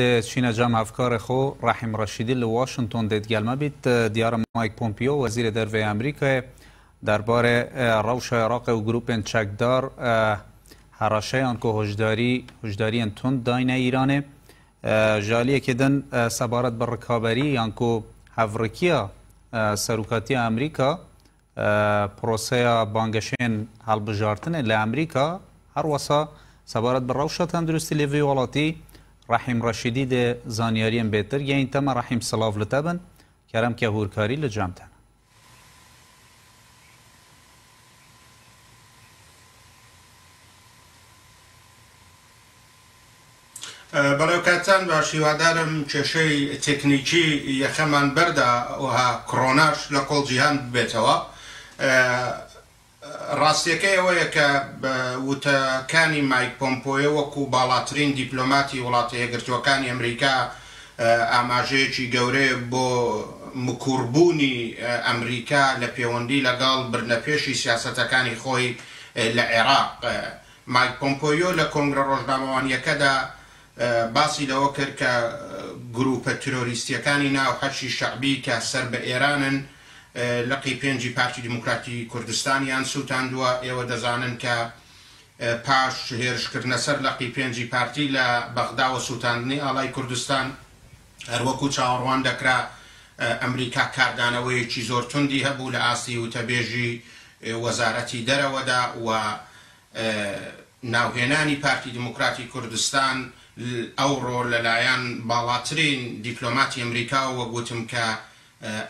دەچینە جەم هەڤکارێ خۆ ڕەحیم ڕەشیدی لە واشنتۆن دێت گەل مە بیت. دیارە مایک پۆمپیۆ وەزیرێ دەرڤەی ئەمریکایێ دەربارێ ڕەوشا عێراقێ و گروپێن چەکدار هەڕەشەیان کۆ هۆشداری هۆشداریێن توند داینە ئیرانێ. ژالیەکێ دن سەبارەت بە ڕکابەری یان کۆ هەڤڕکیە سەروکاتیە ئەمریکا پرۆسەیا بانگەشەێن هەڵبژارتنێ لە ئەمریکا، هەروەسا سەبارەت بە ڕەوشا تەندروستی لێ ڤی وڵاتی، ڕەحیم ڕەشیدی دێ زانیاریێن بێتر گەین تەمە. ڕەحیم سڵاڤ لە تە بن، کەرەم کە هوورکاری لە جام تەنە. بەڵێ کاتتان باش، هیوادارم کێشەی تەکنیکی یەخەمان بەردا وها کڕۆناش لە کۆڵ جیهان ببێتەوە. ڕاستیەکەی ئەوەیە کە وتەکانی مایک پۆمپۆیۆ وەکو باڵاترین دیپلۆماتی وڵاتە یەکگرتووەکانی ئەمریکا ئاماژەیەکی گەورەیە بۆ مکوڕبوونی ئەمریکا لە پێوەندی لەگەڵ بردنەپێشی سیاسەتەکانی خۆی لە عێراق. مایک پۆمپۆیۆ لە کۆنگرە ڕۆژنامەوانییەکەدا باسی لەوە کرد کە گرووپە ترۆریستییەکانی ناو حەشی شەعبی کە سەر بە ئێرانن لقی پێنجی پارتی دیموکراتی کوردستانیان سووتاندووە. ئێوە دەزانن کە پاش هێرشکردنە سەر لقی پێنجی پارتی لە بەغدا و سووتاندنی ئاڵای کوردستان، هەروەکو چاوەڕوان دەکرا ئەمریکا کاردانەوەیەکی زۆر توندی هەبوو لە ئاستی وتەبێژی وەزارەتی دەرەوەدا و ناوهێنانی پارتی دیموکراتی کوردستان ئەوڕۆ لەلایەن باڵاترین دیپلۆماتی ئەمریکاوە وەک وتم کە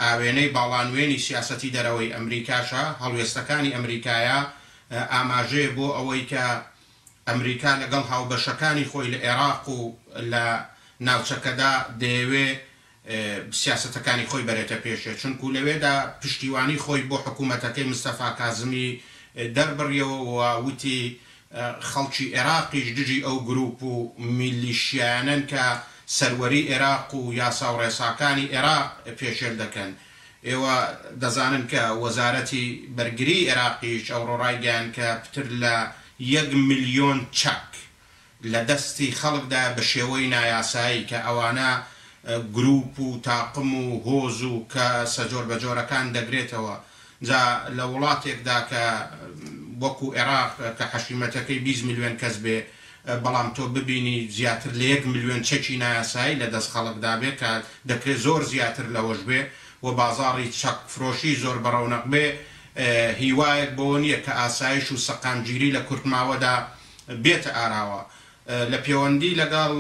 ئاوێنەی باڵانوێنی سیاسەتی دەرەوەی ئەمریکاشە، هەڵوێستەکانی ئەمریکایە ئاماژەیە بۆ ئەوەی کە ئەمریکا لەگەڵ هاوبەشەکانی خۆی لە ئێراق و لە ناوچەکەدا دەیەوێ سیاسەتەکانی خۆی بەرێتە پێشێ، چونکو لەوێدا پشتیوانی خۆی بۆ حکوومەتەکەی مستەفا کازمی دەربڕیەوە و وتی خەڵکی ئێراقیش دژی ئەو گرووپ و میلیشیایانەن کە سەروەری ئێراق و یاسا و ڕێساکانی ئێراق پێشێل دەکەن. ئێوە دەزانن کە وەزارەتی بەرگریی ئێراقیش ئەوڕۆ ڕایگەیاند کە پتر لە یەک ملیۆن چەک لە دەستی خەڵکدایە بە شێوەی نایاسایی کە ئەوانە گروپ و تاقم و هۆز و کەسە جۆربەجۆرەکان دەگرێتەوە. جا لە وڵاتێکدا کە وەکو ئێراق کە حەشیمەتەکەی 20 ملیۆن کەس بێ بەڵام تۆ ببینی زیاتر لە یەک ملیۆن چەکی نایاسایی لە دەست خەڵکدا بێ کە دەکرێ زۆر زیاتر لەوەش بێ و بازاڕی چەک فرۆشی زۆر بەڕەونەق بێ هیوایەک بەوە نییە کە ئاسایش و سەقامگیری لە کورتماوەدا بێتە ئاراوە. لە پێوەندی لەگەڵ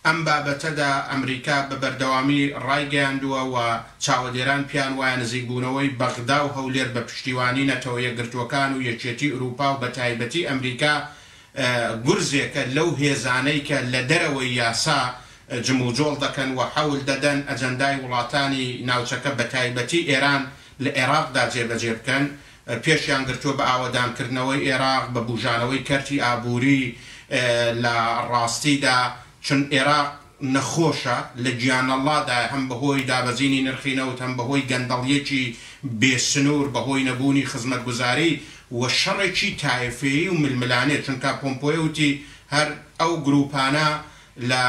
ئەم بابەتەدا ئەمریکا بە بەردەوامی ڕایگەیاندووە و چاوەدێران پێیان وایە نزیکبوونەوەی بەغدا و هەولێر بە پشتیوانی نەتەوە یەکگرتووەکان و یەکێتی ئورووپا و بەتایبەتی ئەمریکا گورزێکە لەو هێزانەی کە لە دەرەوەی یاسا جموجۆڵ دەکەن و حەول دەدەن ئەجەندای وڵاتانی ناوچەکە بەتایبەتی ئێران لە ئێراقدا جێبەجێ بکەن. پێشیان گرتووە بە ئاوەدانکردنەوەی ئێراق، بە بوژانەوەی کەرتی ئابووری، لە ڕاستیدا چون ئێراق نەخۆشە، لە گیانەڵڵادایە، هەم بەهۆی دابەزینی نرخی نەوت، هەم بەهۆی گەندەڵییەکی بێ سنوور، بەهۆی نەبوونی خزمەتگوزاری و شەڕێکی تایفەیی و ململانێ، چونکە پۆمپۆیۆ وتی هەر ئەو گرووپانە لە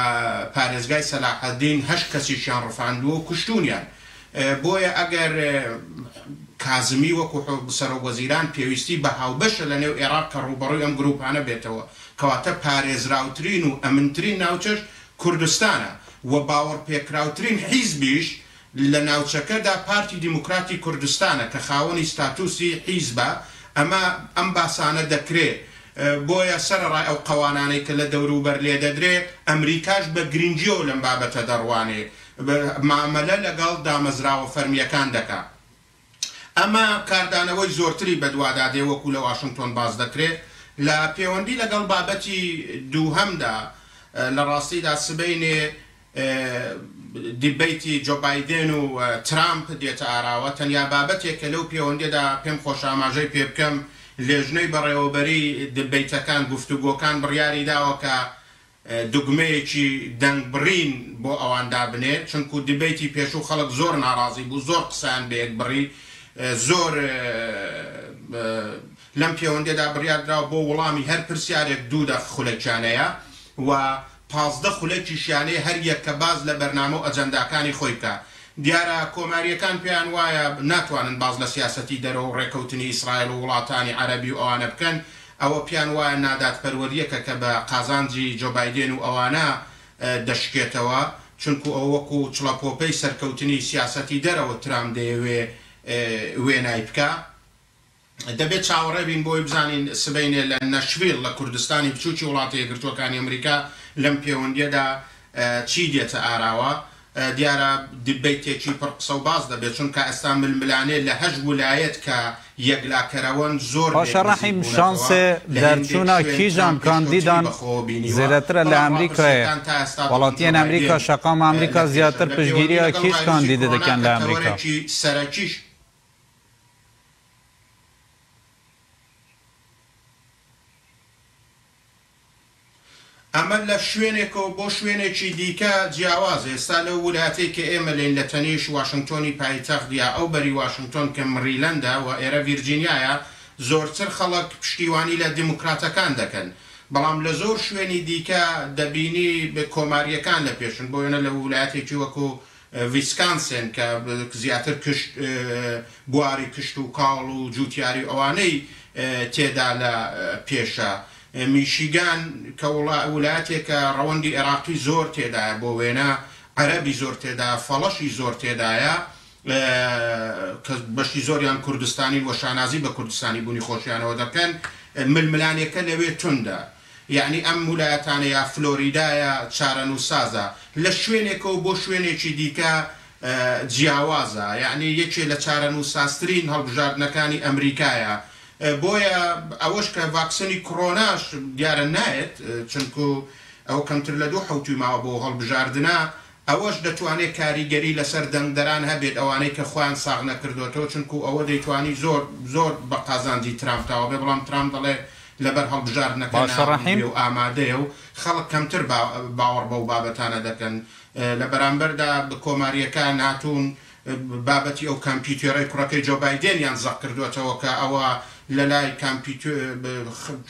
پارێزگای سەلاحەدین هەشت کەسیشیان ڕفاندووە و کوشتوونیان. بۆیە ئەگەر کازمی وەکو سەرۆک وەزیران پێویستی بە هاوبەشە لە نێو ئێراق کە ڕووبەڕووی ئەم گرووپانە بێتەوە، کەواتە پارێزراوترین و ئەمنترین ناوچەش کوردستانە و باوەڕپێکراوترین حیزبیش لە ناوچەکەدا پارتی دیموکراتی کوردستانە کە خاوەنی ستاتوسی حیزبە، ئەمە ئەم باسانە دەکرێ، بۆیە سەرەڕای ئەو قەوانانەی کە لە دەوروبەر لێدەدرێ، ئەمریکاش بە گرنگییەوە لەم بابەتە دەڕوانێ، مامەلە لەگەڵ دامەزراوە فەرمییەکان دەکا. ئەمە کاردانەوەی زۆرتری بەدوادا دێ وەکو لە واشنتۆن باس دەکرێ. لە پێوەندی لەگەڵ بابەتی دووهەمدا، لە ڕاستیدا سبەینێ دیبەیتی جۆ بایدێن و ترامپ دێتە ئاراوە. تەنیا بابەتێک کە لەو پێوەندیەدا پێم خۆشە ئاماژەی پێ بکەم، لێژنەی بەڕێوەبەریی دیبەیتەکان، گفتوگۆکان، بڕیاری داوە کە دوگمەیەکی دەنگبڕین بۆ ئەوان دابنێ، چونکو دیبەیتی پێشوو خەڵک زۆر ناڕازی بوو، زۆر قسەیان بەیەک بڕی، زۆر لەم پێوەندیەدا بڕیار دراوە بۆ وڵامی هەر پرسیارێک دوو دەق خولەکیانەیە و. 15 خولەکیشیانەیە هەر یەک کە باس لە بەرنامە و ئەجەنداکانی خۆی بکا. دیارە کۆمارییەکان پێیان وایە ناتوانن باس لە سیاسەتی دەرەوە و ڕێکەوتنی ئیسرائیل و وڵاتانی عەرەبی و ئەوانە بکەن، ئەوە پێیان وایە نادادپەروەرییەکە کە بە قازانجی جۆ بایدێن و ئەوانە دەشکێتەوە، چونکو ئەوە وەکو چڵەپۆپەی سەرکەوتنی سیاسەتی دەرەوە ترامپ دەیەوێ وێنای بکا. دەبێت چاوەڕێ بین بۆی بزانین سبەینێ لە نەشڤیڵ لە کوردستانی بچووکی وڵاتە یەکگرتووەکانی ئەمریکا لەم پێوەندییەدا چی دێتە ئاراوە. دیارە دیبەیتێکی پڕ قسە و باس دەبێت، چونکە ئێستا ململانێ لە هەشت ولایەت کە یەکلاکەرەوەن زۆر لێک باشە نزیک ڕەحیم بوونەتەوە، شانسێ لە هێندێک دەرچوونا شوێن کیژان ترامپ پێشکەوتنی کاندیدان بە خۆوە بینیوە، زێدەترە لە بەڵام ئەمریکایێ؟ ڕاپرسییەکان تا ئێستا دەڵێن جۆ وڵاتیێن ئەمریکا بایدێن شەقام ئەمریکا لە پێشە. زیاتر لە پێوەندی پشتگیریا لەگەڵ کیژ ڤایرۆسی کاندیدە کۆرۆنا دەکەن کە لە ئەمریکا؟ تەوەرێکی سەرەکیش ئەمە لە شوێنێکەوە بۆ شوێنێکی دیکە جیاوازە، ئێستا لەو ولاتەی کە ئێمە لێین لە تەنیشت واشنگتۆنی پایتەخت یا ئەو بەری واشنگتۆن کە مریلەندە و ئێرە ڤیرجینیایە زۆرتر خەڵک پشتیوانی لە دیموکراتەکان دەکەن، بەڵام لە زۆر شوێنی دیکە دەبینی کۆمارییەکان لە پێشن، بۆ وێنە لە ولایەتێکی وەکو ڤیسکانسێن کە زیاتر کشت بواری کشت و کاڵ و جوتیاری و ئەوانەی تێدا لە پێشە. میشیگان کە ولایەتێکە ڕەوەندی ئێراقی زۆر تێدایە، بۆ وێنە عەرەبی زۆر تێدایە، فەڵەشی زۆر تێدایە کە بەشی زۆریان کوردستانین و شانازی بە کوردستانی بوونی خۆشیانەوە دەکەن، ململانێکە لەوێ توندە. یەعنی ئەم ولایەتانە یا فلۆریدایە چارەنووسسازە، لە شوێنێکەوە بۆ شوێنێکی دیکە جیاوازە، یەعنی یەکێ لە چارەنووسسازترین هەڵبژاردنەکانی ئەمریکایە، بۆیە ئەوەش کە ڤاکسنی کڕۆناش دیارە نایەت، چونکو ئەوە کەمتر لە دوو حەوتووی ماوە بۆ هەڵبژاردنە، ئەوەش دەتوانێت کاریگەری لەسەر دەنگدەران هەبێت ئەوانەی کە خۆیان ساغ نەکردۆتەوە، چونکو ئەوە دەیتوانی زۆر زۆر بە قازانجی ترامپ تەواو بێت، بەڵام ترامپ دەڵێ لەبەر هەڵبژاردنەکە باشە ناوم ڕەحیم. بێ و ئامادەیە و خەڵک کەمتر باوەڕ بەو بابەتانە دەکەن. لە بەرامبەردا کۆمارییەکان هاتوون بابەتی ئەو کامپیوتێرەی کوڕەکەی جۆ بایدێنیان زەق کردووەتەوە کە ئەوە لەلای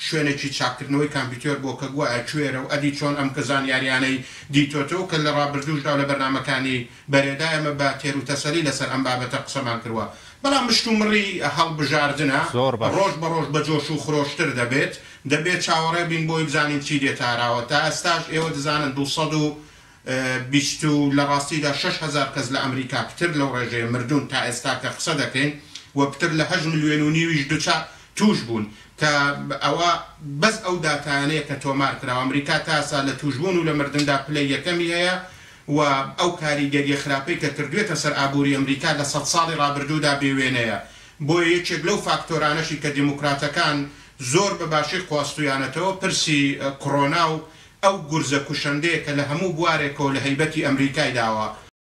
شوێنێکی چاککردنەوەی کامپیوتێر بووە کە گوایە کوێرە و ئەدی چۆن ئەم کە زانیاریانەی دیتۆتەوە کە لە ڕابردووشدا و لە بەرنامەکانی بەرێدا ئێمە بە تێروتەسەلی لەسەر ئەم بابەتە قسەمان کردووە. بەڵام مشتومڕی هەڵبژاردنە زۆر باش. ڕۆژ بە ڕۆژ بە جۆش و خرۆشتر دەبێت. دەبێت چاوەڕێ بین بۆی بزانین چی دێتە ئاراوە. تا ئێستاش ئێوە دەزانن 220 و لە ڕاستیدا 6000 کەس لە ئەمریکا پتر لەو ڕێژەیە مردوون تا ئێستا کە قسە دەکەین و پتر لە 8 ملیۆن و نیویش دوچار تووش بوون کە ئەوە بەس ئەو داتایانەیە کە تۆمار کراوە. ئەمریکا تا ئێستا لە تووشبوون و لە مردندا پلەی یەکەمی هەیە و ئەو کاریگەریە خراپەی کە کردوێتە سەر ئابووری ئەمریکا لە 100 ساڵی ڕابردوودا بێوێنەیە. بۆیە یەکێک لەو فاکتۆرانەشی کە دیموکراتەکان زۆر بە باشی خواستویانەتەوە پرسی کۆرۆنا و ئەو گورزە کوشندەیە کە لە هەموو بوارێکەوە لە هەیبەتی ئەمریکای داوە.